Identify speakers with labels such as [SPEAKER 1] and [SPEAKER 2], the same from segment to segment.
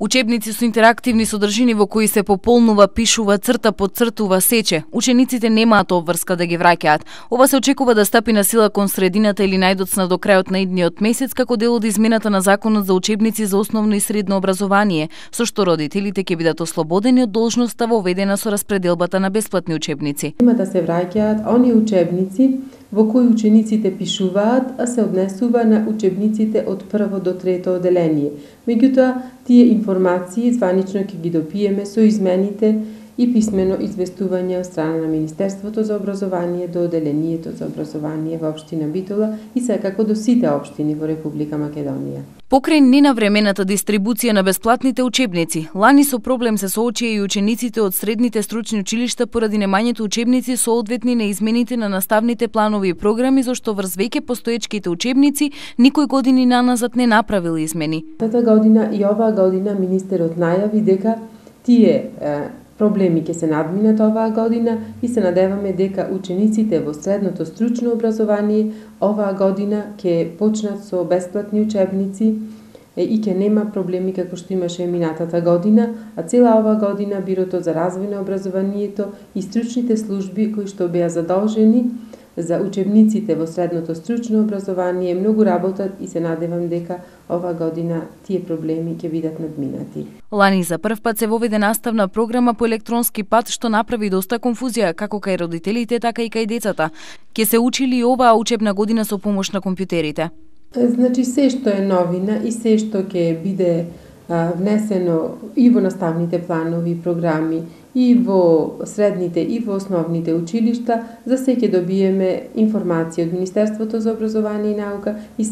[SPEAKER 1] Учебници со интерактивни содржини во кои се пополнува, пишува, црта, подцртува, сече. Учениците немаат обврска да ги враќаат. Ова се очекува да стапи на сила кон средината или најдоцна до крајот на идниот месец како дел од измената на Законот за учебници за основно и средно образование, со што родителите ќе бидат ослободени од должноста воведена со распределбата на бесплатни учебници.
[SPEAKER 2] Има да се враќаат они учебници во кои учениците пишуваат, а се однесува на учебниците од прво до трето оделение. Меѓутоа, тие информации званично ќе ги допиеме со измените и писмено известување од страна на Министерството за образование до Оделението за образование во општина Битола и секако до сите општини во Република Македонија.
[SPEAKER 1] Покрај ненавремената дистрибуција на бесплатните учебници, лани со проблем се соочија и учениците од средните стручни училишта поради немањето учебници соодветни на измените на наставните планови и програми, зашто врз веќе постоечките учебници никој години наназад не направил измени.
[SPEAKER 2] Тата година и оваа година министерот најави дека тие проблеми ќе се надминат оваа година и се надеваме дека учениците во средното стручно образование оваа година ќе почнат со бесплатни учебници и ќе нема проблеми како што имаше минатата година, а цела оваа година Бирото за развој на образованието и стручните служби кои што беа задолжени за учебниците во средното стручно образование многу работат и се надевам дека ова година тие проблеми ќе бидат надминати.
[SPEAKER 1] Лани за прв пат се воведе наставна програма по електронски пат што направи доста конфузија како кај родителите, така и кај децата. Ке се учили и оваа учебна година со помош на компјутерите.
[SPEAKER 2] Значи се што е новина и се што ќе биде внесено и во наставните планови и програми, и во средните и во основните училишта, за се ќе добиеме информација од Министерството за образование и наука и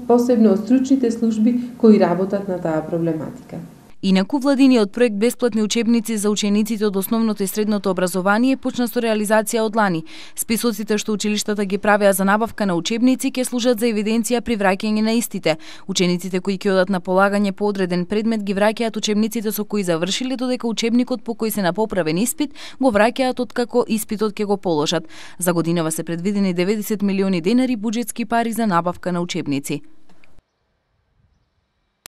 [SPEAKER 2] посебно од стручните служби кои работат на таа проблематика.
[SPEAKER 1] Инаку владиниот проект бесплатни учебници за учениците од основното и средното образование почна со реализација од лани. Списоците што училиштата ги правеа за набавка на учебници ќе служат за евиденција при враќање на истите. Учениците кои ќе одат на полагање по одреден предмет ги враќаат учебниците со кои завршиле, додека учебникот по кој се на поправен испит го враќаат откако испитот ќе го положат. За годинава се предвидени 90 милиони денари буџетски пари за набавка на учебници.